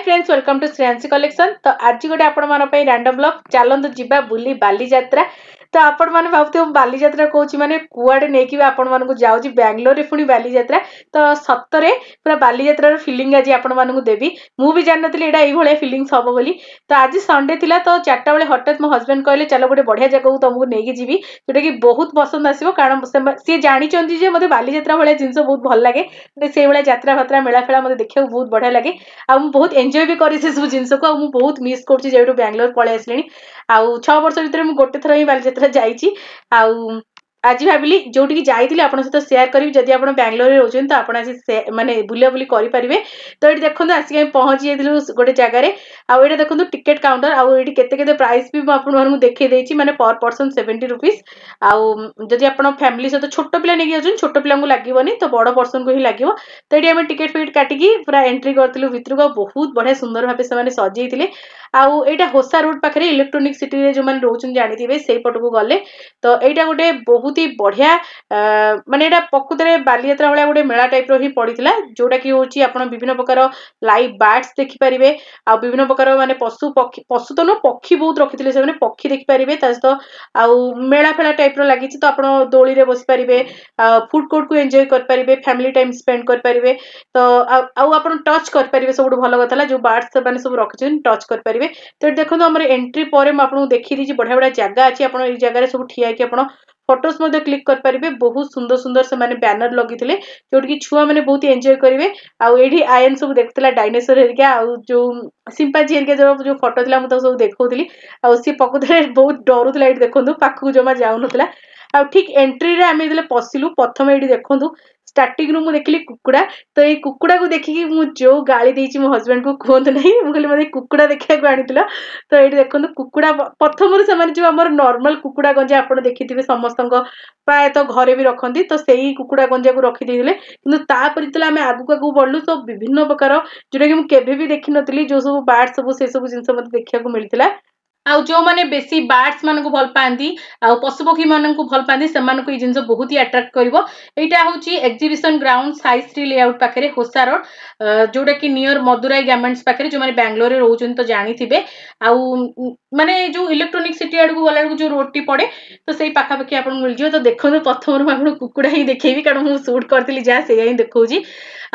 Friends, welcome to Shreyanshi Collection। ତ ଆଜି ଗୋଟେ ଆପଣମାନଙ୍କ ପାଇଁ ରାଣ୍ଡମ୍ ବ୍ଲଗ୍। ଚାଲନ୍ତୁ ଯିବା ବୁଲି ବାଲିଯାତ୍ରା। ତ ଆପଣମାନେ ଭାବୁଥିବେ, ମୁଁ ବାଲିଯାତ୍ରା କହୁଛି ମାନେ କୁଆଡ଼େ ନେଇକି ବି ଆପଣମାନଙ୍କୁ ଯାଉଛି, ବାଙ୍ଗାଲୋରରେ ପୁଣି ବାଲିଯାତ୍ରା। ତ ସତରେ ପୁରା ବାଲିଯାତ୍ରାର ଫିଲିଂ ଆଜି ଆପଣମାନଙ୍କୁ ଦେବି। ମୁଁ ବି ଜାଣିନଥିଲି ଏଇଟା ଏଇଭଳିଆ ଫିଲିଙ୍ଗସ୍ ହବ ବୋଲି। ତ ଆଜି ସଣ୍ଡେ ଥିଲା, ତ 4ଟା ବେଳେ ହଠାତ୍ ମୋ ହଜବେଣ୍ଡ କହିଲେ, ଚାଲ ଗୋଟେ ବଢ଼ିଆ ଜାଗାକୁ ତମକୁ ନେଇକି ଯିବି, ଯୋଉଟାକି ବହୁତ ପସନ୍ଦ ଆସିବ। କାରଣ ସିଏ ଜାଣିଛନ୍ତି ଯେ ମୋତେ ବାଲିଯାତ୍ରା ଭଳିଆ ଜିନିଷ ବହୁତ ଭଲ ଲାଗେ। ସେଇଭଳିଆ ଯାତ୍ରା ଫାତ୍ରା, ମେଳା ଫେଳା ମୋତେ ଦେଖିବାକୁ ବହୁତ ବଢ଼ିଆ ଲାଗେ ଆଉ ମୁଁ ବହୁତ ଏନ୍ଜୟ ବି କରେ ସେସବୁ ଜିନିଷକୁ। ଆଉ ମୁଁ ବହୁତ ମିସ୍ କରୁଛି ଯେବେଠୁ ବାଙ୍ଗାଲୋର ପଳେଇ ଆସିଲିଣି। ଆଉ 6 ବର୍ଷ ଭିତରେ ମୁଁ ଗୋଟେ ଥର ହିଁ ବାଲିଯାତ୍ରା ଯାଇଛି। ଆଉ ଆଜି ଭାବିଲି ଯୋଉଠିକି ଯାଇଥିଲି ଆପଣଙ୍କ ସହିତ ସେୟାର କରିବି। ଯଦି ଆପଣ ବାଙ୍ଗାଲୋରରେ ରହୁଛନ୍ତି, ତ ଆପଣ ଆସି ମାନେ ବୁଲାବୁଲି କରିପାରିବେ। ତ ଏଇଠି ଦେଖନ୍ତୁ, ଆସିକି ଆମେ ପହଞ୍ଚି ଯାଇଥିଲୁ ଗୋଟେ ଜାଗାରେ। ଆଉ ଏଇଟା ଦେଖନ୍ତୁ ଟିକେଟ କାଉଣ୍ଟର। ଆଉ ଏଇଠି କେତେ କେତେ ପ୍ରାଇସ୍ ବି ମୁଁ ଆପଣମାନଙ୍କୁ ଦେଖେଇ ଦେଇଛି, ମାନେ ପର ପର୍ସନ 70 ରୁପିସ୍। ଆଉ ଯଦି ଆପଣ ଫ୍ୟାମିଲି ସହିତ ଛୋଟ ପିଲା ନେଇକି ଯାଉଛନ୍ତି, ଛୋଟ ପିଲାଙ୍କୁ ଲାଗିବନି, ତ ବଡ଼ ପର୍ସନକୁ ହିଁ ଲାଗିବ। ତ ଏଇଠି ଆମେ ଟିକେଟ ଫିକେଟ କାଟିକି ପୁରା ଏଣ୍ଟ୍ରି କରିଥିଲୁ ଭିତରକୁ। ଆଉ ବହୁତ ବଢ଼ିଆ ସୁନ୍ଦର ଭାବେ ସେମାନେ ସଜେଇଥିଲେ। ଆଉ ଏଇଟା ହୋସା ରୋଡ ପାଖରେ, ଇଲେକ୍ଟ୍ରୋନିକ ସିଟିରେ ଯୋଉମାନେ ରହୁଛନ୍ତି ଜାଣିଥିବେ, ସେଇ ପଟକୁ ଗଲେ। ତ ଏଇଟା ଗୋଟେ ବହୁତ ହି ବଢିଆ, ମାନେ ଏଇଟା ପ୍ରକୃତରେ ବାଲିଯାତ୍ରା ଭଳିଆ ଗୋଟେ ମେଳା ଟାଇପର ହିଁ ପଡିଥିଲା, ଯୋଉଟା କି ହଉଛି ଆପଣ ବିଭିନ୍ନ ପ୍ରକାର ଲାଇଭ୍ ବାର୍ଡସ ଦେଖିପାରିବେ ଆଉ ବିଭିନ୍ନ ପ୍ରକାର ମାନେ ପଶୁ ପକ୍ଷୀ, ପଶୁ ତ ନୁହଁ, ପକ୍ଷୀ ବହୁତ ରଖିଥିଲେ ସେମାନେ, ପକ୍ଷୀ ଦେଖିପାରିବେ। ତା ସହିତ ଆଉ ମେଳା ଫେଳା ଟାଇପର ଲାଗିଛି, ତ ଆପଣ ଦୋଳିରେ ବସିପାରିବେ, ଫୁଡ କୋର୍ଟକୁ ଏନ୍ଜୟ କରିପାରିବେ, ଫ୍ୟାମିଲି ଟାଇମ୍ ସ୍ପେଣ୍ଡ କରିପାରିବେ। ତ ଆଉ ଆପଣ ଟଚ୍ କରିପାରିବେ। ସବୁଠୁ ଭଲ କଥା ହେଲା, ଯୋଉ ବାର୍ଡସ ସେମାନେ ସବୁ ରଖିଛନ୍ତି, ଟଚ୍ କରିପାରିବେ। ତ ଏଠି ଦେଖନ୍ତୁ, ଆମର ଏଣ୍ଟ୍ରି ପରେ ମୁଁ ଆପଣଙ୍କୁ ଦେଖେଇ ଦେଇଛି, ବଢିଆ ବଢିଆ ଜାଗା ଅଛି। ଆପଣ ଏଇ ଜାଗାରେ ସବୁ ଠିଆ ହେଇକି ଆପଣ ଫଟୋସ୍ ମଧ୍ୟ କ୍ଲିକ୍ କରିପାରିବେ। ବହୁତ ସୁନ୍ଦର ସୁନ୍ଦର ସେମାନେ ବ୍ୟାନର ଲଗେଇଥିଲେ, ଯୋଉଠିକି ଛୁଆମାନେ ବହୁତ ଏନ୍ଜୟ କରିବେ। ଆଉ ଏଇଠି ଆୟନ ସବୁ ଦେଖୁଥିଲା ଡାଇନୋସର ହେରିକା ଆଉ ଯୋଉ ସିମ୍ପାଜି ହେରିକା, ଯୋଉ ଯୋଉ ଫଟୋ ଥିଲା, ମୁଁ ତାକୁ ସବୁ ଦେଖଉଥିଲି। ଆଉ ସିଏ ପ୍ରକୃତରେ ବହୁତ ଡରୁଥିଲା। ଏଇଠି ଦେଖନ୍ତୁ, ପାଖକୁ ଜମା ଯାଉନଥିଲା। ଆଉ ଠିକ ଏଣ୍ଟ୍ରିରେ ଆମେ ଯେତେବେଳେ ପଶିଲୁ, ପ୍ରଥମେ ଏଇଠି ଦେଖନ୍ତୁ, ଷ୍ଟାର୍ଟିଂରୁ ମୁଁ ଦେଖିଲି କୁକୁଡ଼ା। ତ ଏଇ କୁକୁଡ଼ାକୁ ଦେଖିକି ମୁଁ ଯୋଉ ଗାଳି ଦେଇଛି ମୋ ହଜବେଣ୍ଡକୁ, କୁହନ୍ତୁ ନାହିଁ। ମୁଁ କହିଲି, ମୋତେ କୁକୁଡ଼ା ଦେଖିବାକୁ ଆଣିଥିଲ? ତ ଏଇଠି ଦେଖନ୍ତୁ କୁକୁଡ଼ା। ପ୍ରଥମରୁ ସେମାନେ ଯୋଉ ଆମର ନର୍ମାଲ କୁକୁଡ଼ା ଗଞ୍ଜା ଆପଣ ଦେଖିଥିବେ, ସମସ୍ତଙ୍କ ପ୍ରାୟତଃ ଘରେ ବି ରଖନ୍ତି, ତ ସେଇ କୁକୁଡ଼ା ଗଞ୍ଜାକୁ ରଖିଦେଇଥିଲେ। କିନ୍ତୁ ତାପରେ ଯେତେବେଳେ ଆମେ ଆଗକୁ ଆଗକୁ ବଢିଲୁ, ତ ବିଭିନ୍ନ ପ୍ରକାର ଯୋଉଟାକି ମୁଁ କେବେ ବି ଦେଖିନଥିଲି, ଯୋଉ ସବୁ ବାର୍ଡ ସବୁ, ସେ ସବୁ ଜିନିଷ ମୋତେ ଦେଖିବାକୁ ମିଳିଥିଲା। ଆଉ ଯୋଉମାନେ ବେଶୀ ବାର୍ଡସ ମାନଙ୍କୁ ଭଲ ପାଆନ୍ତି ଆଉ ପଶୁପକ୍ଷୀ ମାନଙ୍କୁ ଭଲ ପାଆନ୍ତି, ସେମାନଙ୍କୁ ଏଇ ଜିନିଷ ବହୁତ ହି ଆଟ୍ରାକ୍ଟ କରିବ। ଏଇଟା ହଉଛି ଏକ୍ଜିବିସନ ଗ୍ରାଉଣ୍ଡ, ସାଇଶ୍ରୀ ଲେଆଉଟ ପାଖରେ, ହୋସା ରୋଡ, ଯୋଉଟା କି ନିୟର ମଦୁରାଇ ଗାର୍ମେଣ୍ଟସ ପାଖରେ। ଯୋଉମାନେ ବାଙ୍ଗାଲୋରରେ ରହୁଛନ୍ତି ତ ଜାଣିଥିବେ। ଆଉ ମାନେ ଯୋଉ ଇଲେକ୍ଟ୍ରୋନିକ ସିଟି ଆଡକୁ ଗଲା ବେଳକୁ ଯୋଉ ରୋଡଟି ପଡେ, ତ ସେଇ ପାଖାପାଖି ଆପଣଙ୍କୁ ମିଳିଯିବ। ତ ଦେଖନ୍ତୁ, ପ୍ରଥମରୁ ମୁଁ ଆପଣଙ୍କୁ କୁକୁଡ଼ା ହିଁ ଦେଖେଇବି, କାରଣ ମୁଁ ସୁଟ୍ କରିଥିଲି ଯାହା, ସେଇଆ ହିଁ ଦେଖଉଛି।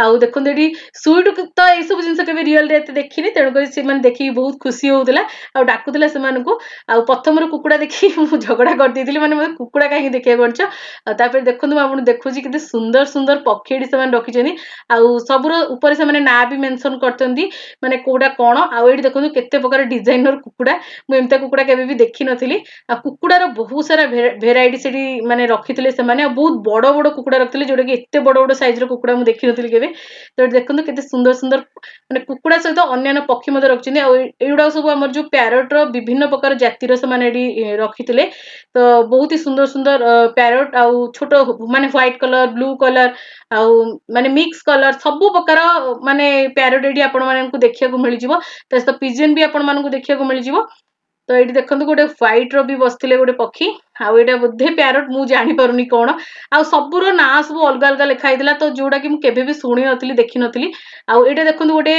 ଆଉ ଦେଖନ୍ତୁ ଏଠି ସୁଇଟ୍ ତ ଏଇସବୁ ଜିନିଷ କେବେ ରିଅଲରେ ଏତେ ଦେଖିନି, ତେଣୁକରି ସେମାନେ ଦେଖିକି ବହୁତ ଖୁସି ହଉଥିଲା ଆଉ ଡାକୁଥିଲା ସେମାନଙ୍କୁ। ଆଉ ପ୍ରଥମରୁ କୁକୁଡ଼ା ଦେଖିକି ମୁଁ ଝଗଡ଼ା କରିଦେଇଥିଲି, ମାନେ ମୋତେ କୁକୁଡ଼ା କାହିଁକି ଦେଖିବାକୁ ଆଣିଛ? ଆଉ ତାପରେ ଦେଖନ୍ତୁ, ମୁଁ ଆପଣଙ୍କୁ ଦେଖୁଛି କେତେ ସୁନ୍ଦର ସୁନ୍ଦର ପକ୍ଷୀ ଏଠି ସେମାନେ ରଖିଛନ୍ତି। ଆଉ ସବୁର ଉପରେ ସେମାନେ ନାଁ ବି ମେନସନ କରିଛନ୍ତି, ମାନେ କୋଉଟା କଣ। ଆଉ ଏଇଠି ଦେଖନ୍ତୁ କେତେ ପ୍ରକାର ଡିଜାଇନର କୁକୁଡ଼ା। ମୁଁ ଏମିତିଆ କୁକୁଡ଼ା କେବେ ବି ଦେଖିନଥିଲି। ଆଉ କୁକୁଡ଼ାର ବହୁତ ସାରା ଭେରାଇଟି ସେଠି ମାନେ ରଖିଥିଲେ ସେମାନେ। ଆଉ ବହୁତ ବଡ ବଡ କୁକୁଡ଼ା ରଖିଥିଲେ, ଯୋଉଟା କି ଏତେ ବଡ ବଡ ସାଇଜର କୁକୁଡ଼ା ମୁଁ ଦେଖିନଥିଲି କେବେ। ତ ଏଠି ଦେଖନ୍ତୁ କେତେ ସୁନ୍ଦର ସୁନ୍ଦର ମାନେ କୁକୁଡ଼ା ସହିତ ଅନ୍ୟାନ୍ୟ ପକ୍ଷୀ ମଧ୍ୟ ରଖିଛନ୍ତି। ଆଉ ଏଇଗୁଡାକ ସବୁ ଆମର ଯୋଉ ପ୍ୟାରଟର ବିଭିନ୍ନ ପ୍ରକାର ଜାତିର ସେମାନେ ଏଠି ରଖିଥିଲେ। ତ ବହୁତ ହି ସୁନ୍ଦର ସୁନ୍ଦର ପ୍ୟାରଟ ଆଉ ଛୋଟ ମାନେ ହ୍ୱାଇଟ କଲର, ବ୍ଲୁ କଲର ଆଉ ମାନେ ମିକ୍ସ କଲର, ସବୁ ପ୍ରକାର ମାନେ ପ୍ୟାରଟ ଏଠି ଆପଣ ମାନଙ୍କୁ ଦେଖିବାକୁ ମିଳିଯିବ। ତା ସହିତ ପିଜନ ବି ଆପଣ ମାନଙ୍କୁ ଦେଖିବାକୁ ମିଳିଯିବ। ତ ଏଇଠି ଦେଖନ୍ତୁ, ଗୋଟେ ହ୍ୱାଇଟ ର ବି ବସିଥିଲେ ଗୋଟେ ପକ୍ଷୀ। ଆଉ ଏଇଟା ବୋଧେ ପ୍ୟାରଟ, ମୁଁ ଜାଣିପାରୁନି କଣ। ଆଉ ସବୁର ନାଁ ସବୁ ଅଲଗା ଅଲଗା ଲେଖା ହେଇଥିଲା, ତ ଯୋଉଟା କି ମୁଁ କେବେ ବି ଶୁଣି ନଥିଲି, ଦେଖିନଥିଲି। ଆଉ ଏଇଟା ଦେଖନ୍ତୁ, ଗୋଟେ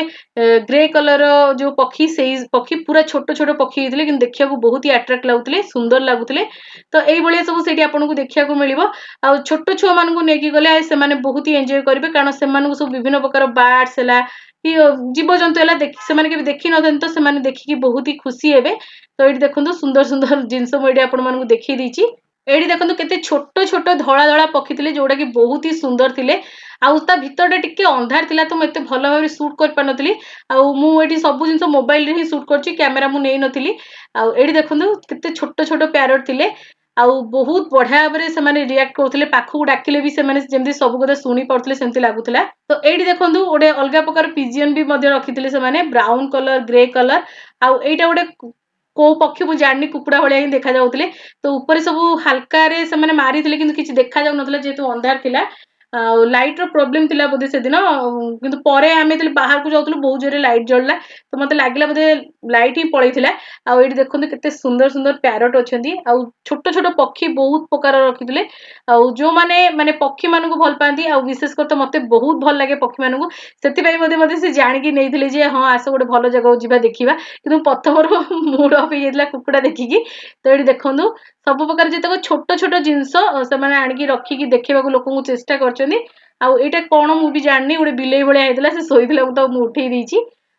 ଗ୍ରେ କଲର ଯୋଉ ପକ୍ଷୀ, ସେଇ ପକ୍ଷୀ। ପୁରା ଛୋଟ ଛୋଟ ପକ୍ଷୀ ହେଇଥିଲେ, କିନ୍ତୁ ଦେଖିବାକୁ ବହୁତ ହି ଆଟ୍ରାକ୍ଟ ଲାଗୁଥିଲେ, ସୁନ୍ଦର ଲାଗୁଥିଲେ। ତ ଏଇଭଳିଆ ସବୁ ସେଇଠି ଆପଣଙ୍କୁ ଦେଖିବାକୁ ମିଳିବ। ଆଉ ଛୋଟ ଛୁଆ ମାନଙ୍କୁ ନେଇକି ଗଲେ ସେମାନେ ବହୁତ ହି ଏନ୍ଜୟ କରିବେ, କାରଣ ସେମାନଙ୍କୁ ସବୁ ବିଭିନ୍ନ ପ୍ରକାର ବାର୍ଡସ ହେଲା କି ଜୀବଜନ୍ତୁ ହେଲା, ସେମାନେ କେବେ ଦେଖିନଥାନ୍ତି, ତ ସେମାନେ ଦେଖିକି ବହୁତ ହି ଖୁସି ହେବେ। ତ ଏଇଠି ଦେଖନ୍ତୁ, ସୁନ୍ଦର ସୁନ୍ଦର ଜିନିଷ ମୁଁ ଏଇଠି ଆପଣମାନଙ୍କୁ ଦେଖେଇ ଦେଇଛି। ଏଇଠି ଦେଖନ୍ତୁ କେତେ ଛୋଟ ଛୋଟ ଧଳା ଧଳା ପକ୍ଷୀ ଥିଲେ, ଯୋଉଟା କି ବହୁତ ହି ସୁନ୍ଦର ଥିଲେ। ଆଉ ତା ଭିତରଟା ଟିକେ ଅନ୍ଧାର ଥିଲା, ତ ମୁଁ ଏତେ ଭଲ ଭାବରେ ସୁଟ୍ କରିପାରିନଥିଲି। ଆଉ ମୁଁ ଏଠି ସବୁ ଜିନିଷ ମୋବାଇଲରେ ହିଁ ସୁଟ୍ କରିଛି, କ୍ୟାମେରା ମୁଁ ନେଇନଥିଲି। ଆଉ ଏଇଠି ଦେଖନ୍ତୁ କେତେ ଛୋଟ ଛୋଟ ପ୍ୟାରଟ ଥିଲେ। ଆଉ ବହୁତ ବଢିଆ ଭାବରେ ସେମାନେ ରିଆକ୍ଟ କରୁଥିଲେ। ପାଖକୁ ଡାକିଲେ ବି ସେମାନେ ଯେମିତି ସବୁ କଥା ଶୁଣି ପାରୁଥିଲେ, ସେମିତି ଲାଗୁଥିଲା। ତ ଏଇଠି ଦେଖନ୍ତୁ, ଗୋଟେ ଅଲଗା ପ୍ରକାର ପିଜିଅନ ବି ମଧ୍ୟ ରଖିଥିଲେ ସେମାନେ, ବ୍ରାଉନ କଲର, ଗ୍ରେ କଲର। ଆଉ ଏଇଟା ଗୋଟେ କୋଉ ପକ୍ଷୀ ମୁଁ ଜାଣିନି, କୁକୁଡ଼ା ଭଳିଆ ହିଁ ଦେଖାଯାଉଥିଲେ। ତ ଉପରେ ସବୁ ହାଲକାରେ ସେମାନେ ମାରିଥିଲେ, କିନ୍ତୁ କିଛି ଦେଖାଯାଉନଥିଲା ଯେହେତୁ ଅନ୍ଧାର ଥିଲା। ଆଉ ଲାଇଟ୍ର ପ୍ରୋବ୍ଲେମ୍ ଥିଲା ବୋଧେ ସେଦିନ। କିନ୍ତୁ ପରେ ଆମେ ଯେତେବେଳେ ବାହାରକୁ ଯାଉଥିଲୁ, ବହୁତ ଜୋରରେ ଲାଇଟ୍ ଜଳିଲା। ତ ମୋତେ ଲାଗିଲା ବୋଧେ ଲାଇଟ୍ ହିଁ ପଳେଇଥିଲା। ଆଉ ଏଇଠି ଦେଖନ୍ତୁ, କେତେ ସୁନ୍ଦର ସୁନ୍ଦର ପ୍ୟାରଟ୍ ଅଛନ୍ତି ଆଉ ଛୋଟ ଛୋଟ ପକ୍ଷୀ ବହୁତ ପ୍ରକାର ରଖିଥିଲେ। ଆଉ ଯେଉଁମାନେ ମାନେ ପକ୍ଷୀମାନଙ୍କୁ ଭଲ ପାଆନ୍ତି, ଆଉ ବିଶେଷ କରି ତ ମୋତେ ବହୁତ ଭଲ ଲାଗେ ପକ୍ଷୀମାନଙ୍କୁ, ସେଥିପାଇଁ ମଧ୍ୟ ମୋତେ ସେ ଜାଣିକି ନେଇଥିଲେ ଯେ ହଁ, ଆସ, ଗୋଟେ ଭଲ ଜାଗାକୁ ଯିବା, ଦେଖିବା। କିନ୍ତୁ ପ୍ରଥମରୁ ମୁଡ୍ ଅଫ୍ ହେଇଯାଇଥିଲା କୁକୁଡ଼ା ଦେଖିକି। ତ ଏଇଠି ଦେଖନ୍ତୁ, ସବୁ ପ୍ରକାର ଯେତେକ ଛୋଟ ଛୋଟ ଜିନିଷ ସେମାନେ ଆଣିକି ରଖିକି ଦେଖେଇବାକୁ ଲୋକଙ୍କୁ ଚେଷ୍ଟା କରିଛନ୍ତି। ଆଉ ଏଇଟା କଣ ମୁଁ ବି ଜାଣିନି, ଗୋଟେ ବିଲେଇ ଭଳିଆ ହେଇଥିଲା, ସେ ଶୋଇଥିଲା, ମୁଁ ତାକୁ ମୁଁ ଉଠେଇ ଦେଇଛି।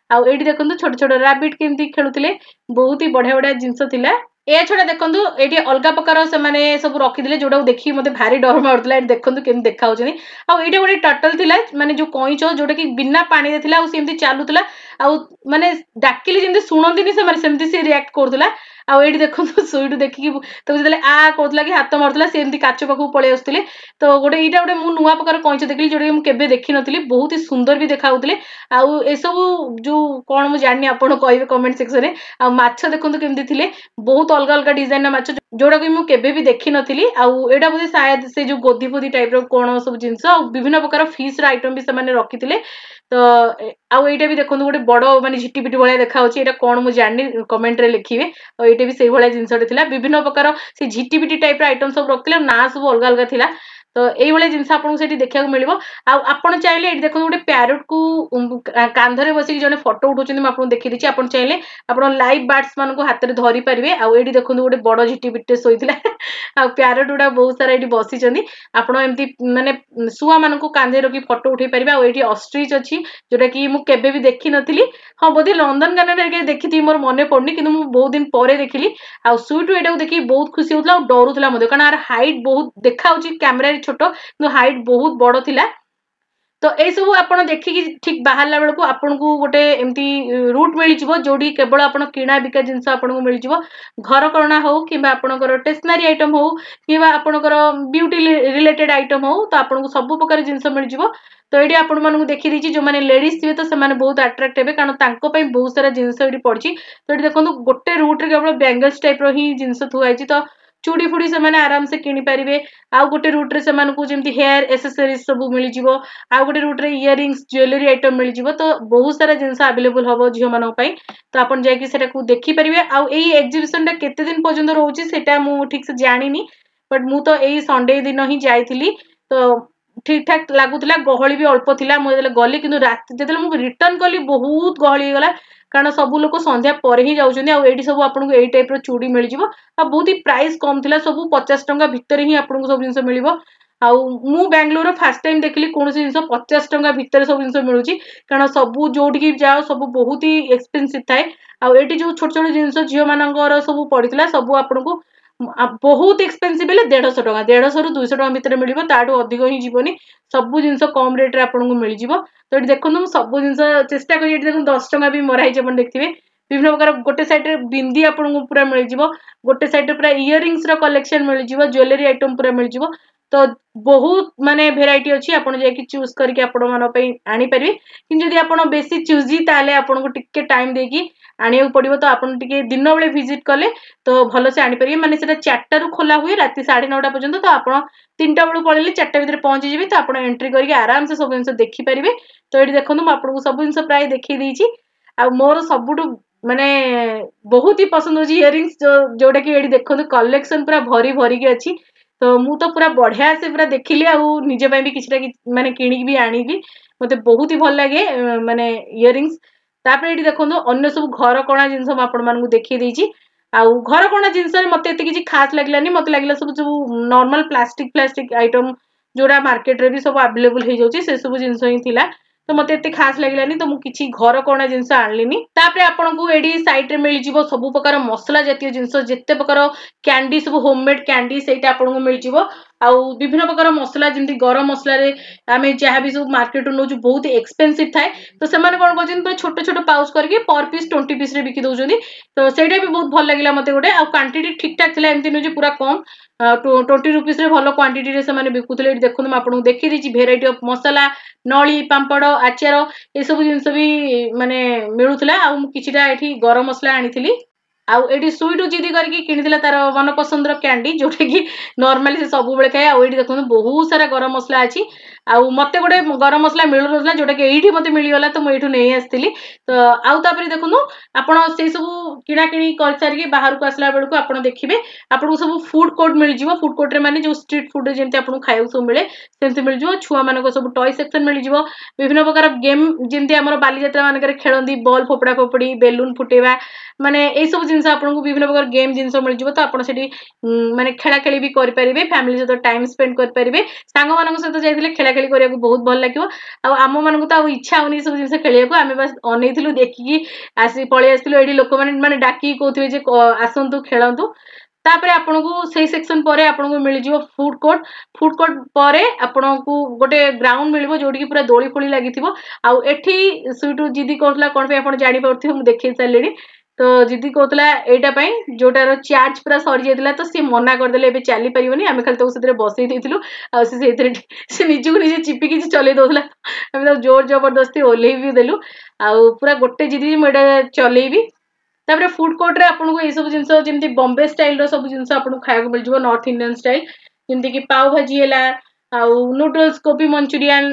ଆଉ ଏଇଠି ଦେଖନ୍ତୁ, ଛୋଟ ଛୋଟ ରାବିଟ୍ କେମିତି ଖେଳୁଥିଲେ। ବହୁତ ହି ବଢିଆ ବଢିଆ ଜିନିଷ ଥିଲା। ଏହା ଛଡା ଦେଖନ୍ତୁ, ଏଇଠି ଅଲଗା ପ୍ରକାର ସେମାନେ ସବୁ ରଖିଥିଲେ, ଯୋଉଟାକୁ ଦେଖିକି ମତେ ଭାରି ଡର ମାଡୁଥିଲା। ଏଠି ଦେଖନ୍ତୁ କେମିତି ଦେଖାଯାଉଛନ୍ତି। ଆଉ ଏଇଟା ଗୋଟେ ଟଟଲ ଥିଲା, ମାନେ ଯୋଉ କଇଁଚ, ଯୋଉଟା କି ବିନା ପାଣିରେ ଥିଲା ଆଉ ସେମିତି ଚାଲୁଥିଲା। ଆଉ ମାନେ ଡାକିଲେ ଯେମିତି ଶୁଣନ୍ତିନି ସେମାନେ, ସେମିତି ସେ ରିଆକ୍ଟ କରୁଥିଲା। ଆଉ ଏଇଠି ଦେଖନ୍ତୁ, ସୁଇଟୁ ଦେଖିକି ତାକୁ ଯେତେବେଳେ ଆ କହୁଥିଲା କି ହାତ ମାରୁଥିଲା, ସେ ଏମିତି କାଚ ପାଖକୁ ପଳେଇ ଆସୁଥିଲେ। ତ ଗୋଟେ ଏଇଟା ଗୋଟେ ମୁଁ ନୂଆ ପ୍ରକାର କଇଁଚ ଦେଖିଲି, ଯୋଉଟା କି ମୁଁ କେବେ ଦେଖିନଥିଲି। ବହୁତ ହି ସୁନ୍ଦର ବି ଦେଖାଯାଉଥିଲେ। ଆଉ ଏସବୁ ଯୋଉ କଣ ମୁଁ ଜାଣିନି, ଆପଣ କହିବେ କମେଣ୍ଟ ସେକ୍ସନରେ। ଆଉ ମାଛ ଦେଖନ୍ତୁ କେମିତି ଥିଲେ, ବହୁତ ଅଲଗା ଅଲଗା ଡିଜାଇନର ମାଛ, ଯୋଉଟାକି ମୁଁ କେବେ ବି ଦେଖିନଥିଲି। ଆଉ ଏଇଟା ବୋଧେ ସାୟଦ ସେ ଯୋଉ ଗୋଧି ଫୋଦି ଟାଇପର କଣ ସବୁ ଜିନିଷ। ଆଉ ବିଭିନ୍ନ ପ୍ରକାର ଫିସ୍ ର ଆଇଟମ ବି ସେମାନେ ରଖିଥିଲେ। ତ ଆଉ ଏଇଟା ବି ଦେଖନ୍ତୁ, ଗୋଟେ ବଡ ମାନେ ଝିଟିପିଟି ଭଳିଆ ଦେଖାଯାଉଛି। ଏଇଟା କଣ ମୁଁ ଜାଣିନି, କମେଣ୍ଟରେ ଲେଖିବେ। ଆଉ ଏଇଟା ବି ସେଇଭଳିଆ ଜିନିଷଟେ ଥିଲା। ବିଭିନ୍ନ ପ୍ରକାର ସେ ଝିଟିପିଟି ଟାଇପର ଆଇଟମ ସବୁ ରଖିଥିଲେ ଆଉ ନାଁ ସବୁ ଅଲଗା ଅଲଗା ଥିଲା। ତ ଏଇଭଳିଆ ଜିନିଷ ଆପଣଙ୍କୁ ସେଠି ଦେଖିବାକୁ ମିଳିବ। ଆଉ ଆପଣ ଚାହିଁଲେ, ଏଇଠି ଦେଖନ୍ତୁ, ଗୋଟେ ପ୍ୟାରଟକୁ କାନ୍ଧରେ ବସିକି ଜଣେ ଫଟୋ ଉଠାଉଛନ୍ତି, ମୁଁ ଆପଣଙ୍କୁ ଦେଖିଦେଇଛି। ଆପଣ ଚାହିଁଲେ ଆପଣ ଲାଇଭ୍ ବାର୍ଡସ ମାନଙ୍କୁ ହାତରେ ଧରି ପାରିବେ। ଆଉ ଏଇଠି ଦେଖନ୍ତୁ, ଗୋଟେ ବଡ ଝିଟିପିଟିଟେ ଶୋଇଥିଲା ଆଉ ପ୍ୟାରଟ ଗୁଡା ବହୁତ ସାରା ଏଇଠି ବସିଛନ୍ତି। ଆପଣ ଏମିତି ମାନେ ଶୁଆ ମାନଙ୍କୁ କାନ୍ଧରେ ରଖି ଫଟୋ ଉଠେଇ ପାରିବେ। ଆଉ ଏଇଠି ଅଷ୍ଟ୍ରିଚ୍ ଅଛି, ଯୋଉଟା କି ମୁଁ କେବେ ବି ଦେଖିନଥିଲି। ହଁ, ବୋଧେ ନନ୍ଦନକାନନରେ ଦେଖିଥିବି, ମୋର ମନେ ପଡୁନି, କିନ୍ତୁ ମୁଁ ବହୁତ ଦିନ ପରେ ଦେଖିଲି। ଆଉ ସୁଇଟୁ ଏଇଟାକୁ ଦେଖିକି ବହୁତ ଖୁସି ହଉଥିଲା ଆଉ ଡରୁଥିଲା ମଧ୍ୟ, କାରଣ ଆର ହାଇଟ୍ ବହୁତ ଦେଖାହଉଛି କ୍ୟାମେରାରେ ଛୋଟ, କିନ୍ତୁ ହାଇଟ୍ ବହୁତ ବଡ ଥିଲା। ତ ଏଇସବୁ ଆପଣ ଦେଖିକି ଠିକ ବାହାରିଲା ବେଳକୁ ଆପଣଙ୍କୁ ଗୋଟେ ଏମିତି ରୁଟ୍ ମିଳିଯିବ, ଯୋଉଠି କେବଳ ଆପଣ କିଣା ବିକା ଜିନିଷ ଆପଣଙ୍କୁ ମିଳିଯିବ। ଘରକରଣା ହଉ କିମ୍ବା ଆପଣଙ୍କର ଷ୍ଟେସନାରୀ ଆଇଟମ ହଉ କିମ୍ବା ଆପଣଙ୍କର ବ୍ୟୁଟି ରିଲେଟେଡ ଆଇଟମ ହଉ, ତ ଆପଣଙ୍କୁ ସବୁ ପ୍ରକାର ଜିନିଷ ମିଳିଯିବ। ତ ଏଇଠି ଆପଣମାନଙ୍କୁ ଦେଖିଦେଇଛି, ଯୋଉମାନେ ଲେଡିଜ ଥିବେ ତ ସେମାନେ ବହୁତ ଆଟ୍ରାକ୍ଟ ହେବେ, କାରଣ ତାଙ୍କ ପାଇଁ ବହୁତ ସାରା ଜିନିଷ ଏଇଠି ପଡିଛି। ତ ଏଠି ଦେଖନ୍ତୁ, ଗୋଟେ ରୁଟ୍ରେ କେବଳ ବ୍ୟାଙ୍ଗଲ୍ସ ଟାଇପର ହିଁ ଜିନିଷ ଥୁଆ ହେଇଛି। ତ ଚୁଡ଼ି ଫୁଡ଼ି ସେମାନେ ଆରାମସେ କିଣିପାରିବେ। ଆଉ ଗୋଟେ ରୁଟ୍ରେ ସେମାନଙ୍କୁ ଯେମିତି ହେୟାର ଏସେସରିଜ ସବୁ ମିଳିଯିବ। ଆଉ ଗୋଟେ ରୁଟ୍ରେ ଇୟରିଙ୍ଗସ୍, ଜୁଏଲାରୀ ଆଇଟମ ମିଳିଯିବ। ତ ବହୁତ ସାରା ଜିନିଷ ଆଭେଲେବୁଲ ହବ ଝିଅମାନଙ୍କ ପାଇଁ। ତ ଆପଣ ଯାଇକି ସେଟାକୁ ଦେଖିପାରିବେ। ଆଉ ଏଇ ଏକ୍ଜିବିସନଟା କେତେ ଦିନ ପର୍ଯ୍ୟନ୍ତ ରହୁଛି, ସେଇଟା ମୁଁ ଠିକ ସେ ଜାଣିନି, ବଟ୍ ମୁଁ ତ ଏଇ ସଣ୍ଡେ ଦିନ ହିଁ ଯାଇଥିଲି। ତ ଠିକ ଠାକ ଲାଗୁଥିଲା, ଗହଳି ବି ଅଳ୍ପ ଥିଲା ମୁଁ ଯେତେବେଳେ ଗଲି। କିନ୍ତୁ ରାତି ଯେତେବେଳେ ମୁଁ ରିଟର୍ନ କଲି, ବହୁତ ଗହଳି ହେଇଗଲା, କାରଣ ସବୁ ଲୋକ ସନ୍ଧ୍ୟା ପରେ ହିଁ ଯାଉଛନ୍ତି। ଆଉ ଏଇଠି ସବୁ ଆପଣଙ୍କୁ ଏଇ ଟାଇପର ଚୁଡ଼ି ମିଳିଯିବ ଆଉ ବହୁତ ହି ପ୍ରାଇସ୍ କମ ଥିଲା। ସବୁ 50 ଟଙ୍କା ଭିତରେ ହିଁ ଆପଣଙ୍କୁ ସବୁ ଜିନିଷ ମିଳିବ। ଆଉ ମୁଁ ବାଙ୍ଗାଲୋରର ଫାର୍ଷ୍ଟ ଟାଇମ ଦେଖିଲି କୌଣସି ଜିନିଷ 50 ଟଙ୍କା ଭିତରେ ସବୁ ଜିନିଷ ମିଳୁଛି, କାରଣ ସବୁ ଯୋଉଠିକି ଯାଅ ସବୁ ବହୁତ ହି ଏକ୍ସପେନ୍ସିଭ ଥାଏ। ଆଉ ଏଇଠି ଯୋଉ ଛୋଟ ଛୋଟ ଜିନିଷ ଝିଅମାନଙ୍କର ସବୁ ପଡିଥିଲା, ସବୁ ଆପଣଙ୍କୁ ବହୁତ ଏକ୍ସପେନ୍ସିଭ ହେଲେ 150 ଟଙ୍କା, 150ରୁ 200 ଟଙ୍କା ଭିତରେ ମିଳିବ, ତାଠୁ ଅଧିକ ହିଁ ଯିବନି। ସବୁ ଜିନିଷ କମ ରେଟରେ ଆପଣଙ୍କୁ ମିଳିଯିବ। ତ ଏଠି ଦେଖନ୍ତୁ, ମୁଁ ସବୁ ଜିନିଷ ଚେଷ୍ଟା କରି, ଏଠି ଦେଖନ୍ତୁ, 10 ଟଙ୍କା ବି ମରା ହେଇଛି, ଆପଣ ଦେଖିଥିବେ। ବିଭିନ୍ନ ପ୍ରକାର ଗୋଟେ ସାଇଡରେ ବିନ୍ଦି ଆପଣଙ୍କୁ ପୁରା ମିଳିଯିବ, ଗୋଟେ ସାଇଡରେ ପୁରା ଇୟରିଙ୍ଗସ ର କଲେକ୍ସନ ମିଳିଯିବ, ଜୁଏଲାରୀ ଆଇଟମ ପୁରା ମିଳିଯିବ। ତ ବହୁତ ମାନେ ଭେରାଇଟି ଅଛି, ଆପଣ ଯାଇକି ଚୁଜ୍ କରିକି ଆପଣମାନଙ୍କ ପାଇଁ ଆଣିପାରିବେ। କିନ୍ତୁ ଯଦି ଆପଣ ବେଶୀ ଚୁଜି, ତାହେଲେ ଆପଣଙ୍କୁ ଟିକେ ଟାଇମ ଦେଇକି ଆଣିବାକୁ ପଡିବ। ତ ଆପଣ ଟିକେ ଦିନ ବେଳେ ଭିଜିଟ କଲେ ତ ଭଲସେ ଆଣିପାରିବେ। ମାନେ ସେଟା 4ଟାରୁ ଖୋଲା ହୁଏ ରାତି 9:30 ପର୍ଯ୍ୟନ୍ତ। ତ ଆପଣ 3ଟା ବେଳକୁ ପଳେଇଲେ 4ଟା ଭିତରେ ପହଞ୍ଚିଯିବେ। ତ ଆପଣ ଏଣ୍ଟ୍ରି କରିକି ଆରାମସେ ସବୁ ଜିନିଷ ଦେଖିପାରିବେ। ତ ଏଇଠି ଦେଖନ୍ତୁ, ମୁଁ ଆପଣଙ୍କୁ ସବୁ ଜିନିଷ ପ୍ରାୟ ଦେଖେଇ ଦେଇଛି। ଆଉ ମୋର ସବୁଠୁ ମାନେ ବହୁତ ହି ପସନ୍ଦ ହଉଛି ଇୟରିଙ୍ଗସ, ଯୋଉଟା କି ଏଇଠି ଦେଖନ୍ତୁ, କଲେକ୍ସନ ପୁରା ଭରି ଭରିକି ଅଛି। ତ ମୁଁ ତ ପୁରା ବଢିଆ ସେ ପୁରା ଦେଖିଲି ଆଉ ନିଜ ପାଇଁ ବି କିଛିଟା ମାନେ କିଣିକି ବି ଆଣିଲି। ମତେ ବହୁତ ହି ଭଲ ଲାଗେ ମାନେ ଇୟରିଙ୍ଗସ। ତାପରେ ଏଇଠି ଦେଖନ୍ତୁ, ଅନ୍ୟ ସବୁ ଘରକରଣା ଜିନିଷ ମୁଁ ଆପଣମାନଙ୍କୁ ଦେଖେଇ ଦେଇଛି। ଆଉ ଘରକରଣା ଜିନିଷରେ ମତେ ଏତେ କିଛି ଖାସ ଲାଗିଲାନି। ମତେ ଲାଗିଲା ସବୁ ସବୁ ନର୍ମାଲ ପ୍ଲାଷ୍ଟିକ ଫ୍ଲାଷ୍ଟିକ ଆଇଟମ, ଯୋଉଟା ମାର୍କେଟରେ ବି ସବୁ ଆଭେଲେବୁଲ ହେଇଯାଉଛି, ସେ ସବୁ ଜିନିଷ ହିଁ ଥିଲା। ତ ମତେ ଏତେ ଖାସ ଲାଗିଲାନି, ତ ମୁଁ କିଛି ଘରକରଣା ଜିନିଷ ଆଣିଲିନି। ତାପରେ ଆପଣଙ୍କୁ ଏଇଠି ସାଇଡରେ ମିଳିଯିବ ସବୁ ପ୍ରକାର ମସଲା ଜାତୀୟ ଜିନିଷ, ଯେତେ ପ୍ରକାର କ୍ୟାଣ୍ଡି ସବୁ ହୋମମେଡ କ୍ୟାଣ୍ଡି, ସେଇଟା ଆପଣଙ୍କୁ ମିଳିଯିବ। ଆଉ ବିଭିନ୍ନ ପ୍ରକାର ମସଲା, ଯେମିତି ଗରମ ମସଲାରେ ଆମେ ଯାହା ବି ସବୁ ମାର୍କେଟରୁ ନେଉଛୁ ବହୁତ ଏକ୍ସପେନ୍ସିଭ ଥାଏ। ତ ସେମାନେ କଣ କରୁଛନ୍ତି, ପୁରା ଛୋଟ ଛୋଟ ପାଉଚ କରିକି ପର ପିସ୍ 20 ପିସରେ ବିକି ଦଉଛନ୍ତି। ତ ସେଇଟା ବି ବହୁତ ଭଲ ଲାଗିଲା ମତେ ଗୋଟେ। ଆଉ କ୍ୱାଣ୍ଟିଟି ଠିକ ଠାକ ଥିଲା, ଏମିତି ନୁହେଁ ଯେ ପୁରା କମ। 20 ରୁପିସରେ ଭଲ କ୍ୱାଣ୍ଟିଟିରେ ସେମାନେ ବିକୁଥିଲେ। ଏଠି ଦେଖନ୍ତୁ, ମୁଁ ଆପଣଙ୍କୁ ଦେଖେଇ ଦେଇଛି ଭେରାଇଟି ଅଫ ମସଲା, ନଳି, ପାମ୍ପଡ଼, ଆଚାର, ଏସବୁ ଜିନିଷ ବି ମାନେ ମିଳୁଥିଲା। ଆଉ ମୁଁ କିଛିଟା ଏଠି ଗରମ ମସଲା ଆଣିଥିଲି। ଆଉ ଏଇଠି ସୁଇଟୁ ଜିଦି କରିକି କିଣିଥିଲା ତାର ମନ ପସନ୍ଦର କ୍ୟାଣ୍ଡି, ଯୋଉଟା କି ନର୍ମାଲି ସେ ସବୁବେଳେ ଖାଏ। ଆଉ ଏଇଠି ଦେଖନ୍ତୁ, ବହୁତ ସାରା ଗରମ ମସଲା ଅଛି। ଆଉ ମତେ ଗୋଟେ ଗରମ ମସଲା ମିଳୁନଥିଲା, ଯୋଉଟା କି ଏଇଠି ମତେ ମିଳିଗଲା, ତ ମୁଁ ଏଇଠୁ ନେଇ ଆସିଥିଲି। ତ ଆଉ ତାପରେ ଦେଖନ୍ତୁ, ଆପଣ ସେଇ ସବୁ କିଣାକିଣି କରିସାରିକି ବାହାରକୁ ଆସିଲା ବେଳକୁ ଆପଣ ଦେଖିବେ ଆପଣଙ୍କୁ ସବୁ ଫୁଡ କୋର୍ଟ ମିଳିଯିବ। ଫୁଡ କୋର୍ଟରେ ମାନେ ଯୋଉ ଷ୍ଟ୍ରିଟ୍ ଫୁଡରେ ଯେମିତି ଆପଣଙ୍କୁ ଖାଇବାକୁ ସବୁ ମିଳେ, ସେମିତି ମିଳିଯିବ। ଛୁଆମାନଙ୍କ ସବୁ ଟୟ ସେକ୍ସନ ମିଳିଯିବ, ବିଭିନ୍ନ ପ୍ରକାର ଗେମ୍, ଯେମିତି ଆମର ବାଲିଯାତ୍ରା ମାନଙ୍କରେ ଖେଳନ୍ତି, ବଲ୍ ଫୋପଡା ଫୋପଡି, ବେଲୁନ ଫୁଟେଇବା, ମାନେ ଏଇ ସବୁ ଜିନିଷ ଆପଣଙ୍କୁ ବିଭିନ୍ନ ପ୍ରକାର ଗେମ୍ ଜିନିଷ ମିଳିଯିବ। ତ ଆପଣ ସେଠି ମାନେ ଖେଳା ଖେଳି ବି କରିପାରିବେ, ଫ୍ୟାମିଲି ସହିତ ଟାଇମ ସ୍ପେଣ୍ଡ କରିପାରିବେ। ସାଙ୍ଗମାନଙ୍କ ସହିତ ଯାଇଥିଲେ ଖେଳା ଖେଳି କରିବାକୁ ବହୁତ ଭଲ ଲାଗିବ। ଆଉ ଆମ ମାନଙ୍କୁ ତ ଆଉ ଇଚ୍ଛା ହଉନି ଏ ସବୁ ଜିନିଷ ଖେଳିବାକୁ, ଆମେ ବାସ୍ ଅନେଇଥିଲୁ, ଦେଖିକି ଆସି ପଳେଇ ଆସିଥିଲୁ। ଏଇଠି ଲୋକମାନେ ମାନେ ଡାକିକି କହୁଥିବେ ଯେ ଆସନ୍ତୁ, ଖେଳନ୍ତୁ। ତାପରେ ଆପଣଙ୍କୁ ସେଇ ସେକ୍ସନ ପରେ ଆପଣଙ୍କୁ ମିଳିଯିବ ଫୁଡ କୋର୍ଟ। ଫୁଡ କୋର୍ଟ ପରେ ଆପଣଙ୍କୁ ଗୋଟେ ଗ୍ରାଉଣ୍ଡ ମିଳିବ, ଯୋଉଠିକି ପୁରା ଦୋଳି ଫୋଳି ଲାଗିଥିବ। ଆଉ ଏଠି ସୁଇଟୁ ଜିଦି କରୁଥିଲା, କଣ ପାଇଁ ଆପଣ ଜାଣିପାରୁଥିବେ, ମୁଁ ଦେଖେଇ ସାରିଲିଣି। ତ ଜିଦି କହୁଥିଲା ଏଇଟା ପାଇଁ, ଯୋଉଟାର ଚାର୍ଜ ପୁରା ସରିଯାଇଥିଲା। ତ ସିଏ ମନା କରିଦେଲେ ଏବେ ଚାଲି ପାରିବନି। ଆମେ ଖାଲି ତାକୁ ସେଥିରେ ବସେଇ ଦେଇଥିଲୁ, ଆଉ ସେ ସେଇଥିରେ ସେ ନିଜକୁ ନିଜେ ଚିପିକି ଚଲେଇ ଦଉଥିଲା। ଆମେ ତାକୁ ଜୋର ଜବରଦସ୍ତି ଓହ୍ଲେଇ ବି ଦେଲୁ। ଆଉ ପୁରା ଗୋଟେ ଜିଦି, ମୁଁ ଏଇଟା ଚଲେଇବି। ତାପରେ ଫୁଡ କୋର୍ଟରେ ଆପଣଙ୍କୁ ଏଇସବୁ ଜିନିଷ, ଯେମିତି ବମ୍ବେ ଷ୍ଟାଇଲର ସବୁ ଜିନିଷ ଆପଣଙ୍କୁ ଖାଇବାକୁ ମିଳିଯିବ, ନର୍ଥ ଇଣ୍ଡିଆନ ଷ୍ଟାଇଲ, ଯେମିତିକି ପାଉ ଭାଜି ହେଲା, ଆଉ ନୁଡଲ୍ସ, କୋବି ମଞ୍ଚୁରିଆନ,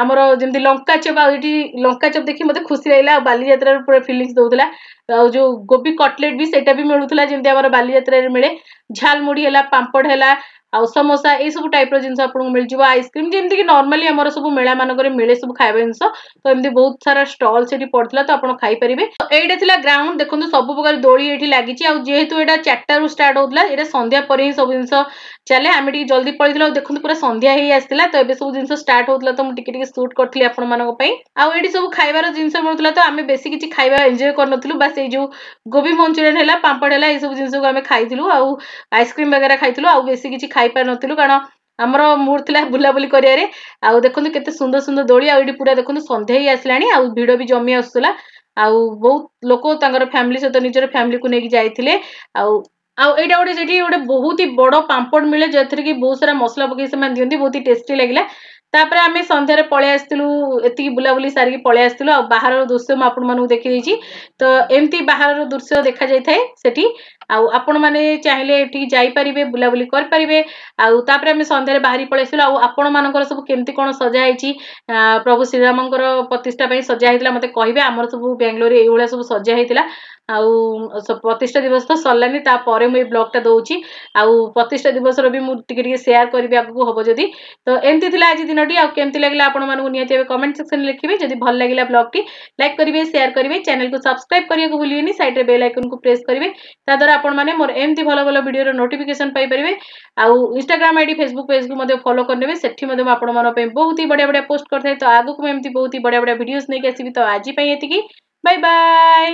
ଆମର ଯେମିତି ଲଙ୍କା ଚପ୍। ଆଉ ଏଠି ଲଙ୍କା ଚପ୍ ଦେଖି ମତେ ଖୁସି ଲାଗିଲା, ଆଉ ବାଲିଯାତ୍ରାର ପୁରା ଫିଲିଙ୍ଗସ୍ ଦଉଥିଲା। ଆଉ ଯୋଉ ଗୋବି କଟଲେଟ ବି, ସେଇଟା ବି ମିଳୁଥିଲା, ଯେମିତି ଆମର ବାଲିଯାତ୍ରାରେ ମିଳେ। ଝାଲମୁଢି ହେଲା, ପାମ୍ପଡ଼ ହେଲା, ଆଉ ସମୋସା, ଏଇ ସବୁ ଟାଇପର ଜିନିଷ ଆପଣଙ୍କୁ ମିଳିଯିବ। ଆଇସ୍କ୍ରିମ, ଯେମିତିକି ନର୍ମାଲି ଆମର ସବୁ ମେଳା ମାନଙ୍କରେ ମିଳେ ସବୁ ଖାଇବା ଜିନିଷ। ତ ଏମିତି ବହୁତ ସାରା ଷ୍ଟଲ ସେଠି ପଡିଥିଲା, ତ ଆପଣ ଖାଇପାରିବେ। ଏଇଟା ଥିଲା ଗ୍ରାଉଣ୍ଡ। ଦେଖନ୍ତୁ, ସବୁ ପ୍ରକାର ଦୋଳି ଏଇଠି ଲାଗିଛି। ଆଉ ଯେହେତୁ ଏଇଟା 4ଟାରୁ ଷ୍ଟାର୍ଟ ହଉଥିଲା, ଏଇଟା ସନ୍ଧ୍ୟା ପରେ ହିଁ ସବୁ ଜିନିଷ ଚାଲେ। ଆମେ ଟିକେ ଜଲ୍ଦି ପଳେଇଥିଲୁ। ଆଉ ଦେଖନ୍ତୁ, ପୁରା ସନ୍ଧ୍ୟା ହେଇ ଆସିଥିଲା, ତ ଏବେ ସବୁ ଜିନିଷ ଷ୍ଟାର୍ଟ ହଉଥିଲା, ତ ମୁଁ ଟିକେ ଟିକେ ସୁଟ୍ କରିଥିଲି ଆପଣମାନଙ୍କ ପାଇଁ। ଆଉ ଏଇଠି ସବୁ ଖାଇବାର ଜିନିଷ ମିଳୁଥିଲା, ତ ଆମେ ବେଶୀ କିଛି ଖାଇବା ଏନ୍ଜୟ କରିନଥିଲୁ। ବାସ୍ ଏଇ ଯୋଉ ଗୋବି ମଞ୍ଚୁରିଆନ ହେଲା, ପାମ୍ପଡ଼ ହେଲା, ଏଇ ସବୁ ଜିନିଷକୁ ଆମେ ଖାଇଥିଲୁ, ଆଉ ଆଇସ୍କ୍ରିମ ବଗେରା ଖାଇଥିଲୁ। ଆଉ ବେଶୀ କିଛି ଖାଇପାରିନଥିଲୁ, କାରଣ ଆମର ମୁଡ୍ ଥିଲା ବୁଲାବୁଲି କରିବାରେ। ଆଉ ଦେଖନ୍ତୁ କେତେ ସୁନ୍ଦର ସୁନ୍ଦର ଦୋଳି। ଆଉ ଏଇଠି ପୁରା ଦେଖନ୍ତୁ ସନ୍ଧ୍ୟା ହେଇ ଆସିଲାଣି, ଆଉ ଭିଡ ବି ଜମି ଆସୁଥିଲା। ଆଉ ବହୁତ ଲୋକ ତାଙ୍କର ଫ୍ୟାମିଲି ସହିତ ନିଜର ଫ୍ୟାମିଲିକୁ ନେଇକି ଯାଇଥିଲେ। ଆଉ ଏଇଟା ଗୋଟେ ସେଠି ଗୋଟେ ବହୁତ ହି ବଡ ପାମ୍ପଡ଼ ମିଳେ, ଯେଉଁଥିରେ କି ବହୁତ ସାରା ମସଲା ପକେଇ ସେମାନେ ଦିଅନ୍ତି, ବହୁତ ହି ଟେଷ୍ଟି ଲାଗିଲା। ତାପରେ ଆମେ ସନ୍ଧ୍ୟାରେ ପଳେଇ ଆସିଥିଲୁ, ଏତିକି ବୁଲାବୁଲି ସାରିକି ପଳେଇ ଆସିଥିଲୁ। ଆଉ ବାହାରର ଦୃଶ୍ୟ ମୁଁ ଆପଣମାନଙ୍କୁ ଦେଖିଦେଇଛି। ତ ଏମିତି ବାହାରର ଦୃଶ୍ୟ ଦେଖାଯାଇଥାଏ ସେଠି। ଆଉ ଆପଣମାନେ ଚାହିଁଲେ ଏଠିକି ଯାଇପାରିବେ, ବୁଲାବୁଲି କରିପାରିବେ। ଆଉ ତାପରେ ଆମେ ସନ୍ଧ୍ୟାରେ ବାହାରି ପଳେଇ ଆସିଲୁ। ଆଉ ଆପଣମାନଙ୍କର ସବୁ କେମିତି କଣ ସଜା ହେଇଛି, ପ୍ରଭୁ ଶ୍ରୀରାମଙ୍କର ପ୍ରତିଷ୍ଠା ପାଇଁ ସଜା ହେଇଥିଲା, ମତେ କହିବେ। ଆମର ସବୁ ବାଙ୍ଗାଲୋରରେ ଏଇଭଳିଆ ସବୁ ସଜା ହେଇଥିଲା। ଆଉ ପ୍ରତିଷ୍ଠା ଦିବସ ତ ସରିଲାନି, ତାପରେ ମୁଁ ଏଇ ବ୍ଲଗଟା ଦଉଛି। ଆଉ ପ୍ରତିଷ୍ଠା ଦିବସର ବି ମୁଁ ଟିକେ ଟିକେ ସେୟାର କରିବି ଆଗକୁ ହବ ଯଦି। ତ ଏମିତି ଥିଲା ଆଜି ଦିନଟି। ଆଉ କେମିତି ଲାଗିଲା ଆପଣମାନଙ୍କୁ ନିହାତି ଭାବେ କମେଣ୍ଟ ସେକ୍ସନରେ ଲେଖିବେ। ଯଦି ଭଲ ଲାଗିଲା ବ୍ଲଗଟି, ଲାଇକ୍ କରିବେ, ସେୟାର କରିବେ, ଚ୍ୟାନେଲକୁ ସବସ୍କ୍ରାଇବ କରିବାକୁ ଭୁଲିବେନି। ସାଇଡରେ ବେଲ୍ ଆଇକନକୁ ପ୍ରେସ୍ କରିବେ, ତା ଦ୍ୱାରା ଆପଣମାନେ ମୋର ଏମିତି ଭଲ ଭଲ ଭିଡ଼ିଓର ନୋଟିଫିକେସନ ପାଇପାରିବେ। ଆଉ ଇନଷ୍ଟାଗ୍ରାମ ଆଇଡି, ଫେସବୁକ୍ ପେଜକୁ ମଧ୍ୟ ଫଲୋ କରିନେବେ। ସେଠି ମଧ୍ୟ ମୁଁ ଆପଣମାନଙ୍କ ପାଇଁ ବହୁତ ହି ବଢ଼ିଆ ବଢ଼ିଆ ପୋଷ୍ଟ କରିଥାଏ। ତ ଆଗକୁ ମୁଁ ଏମିତି ବହୁତ ହି ବଢ଼ିଆ ବଢ଼ିଆ ଭିଡ଼ିଓସ୍ ନେଇକି ଆସିବି। ତ ଆଜି ପାଇଁ ଏତିକି, ବାଇ ବାଇ।